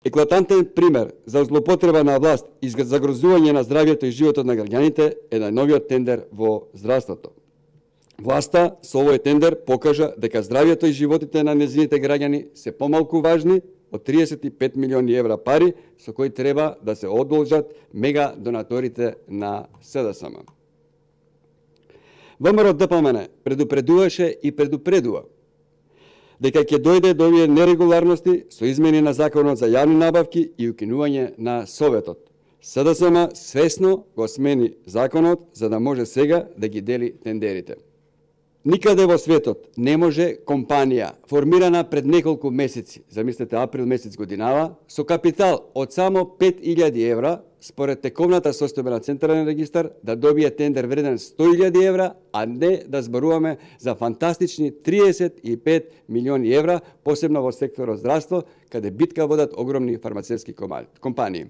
Еклатантен пример за злоупотреба на власт и загрозување на здравјето и животот на граѓаните е најновиот тендер во здравството. Власта со овој тендер покажа дека здравјето и животите на нејзините граѓани се помалку важни од 35 милиони евра пари со кои треба да се одолжат мега донаторите на СДСМ. ВМРО-ДПМН предупредуваше и предупредува дека ќе дојде до овие нерегуларности со измени на Законот за јавни набавки и укинување на Советот. СДСМ свесно го смени Законот за да може сега да ги дели тендерите. Никаде во светот не може компанија формирана пред неколку месеци, замислете април месец годинава, со капитал од само 5.000 евра, според тековната состојба на Централен регистар, да добие тендер вреден 100.000 евра, а не да зборуваме за фантастични 35 милиони евра, посебно во секторот здравство, каде битка водат огромни фармацевски компании.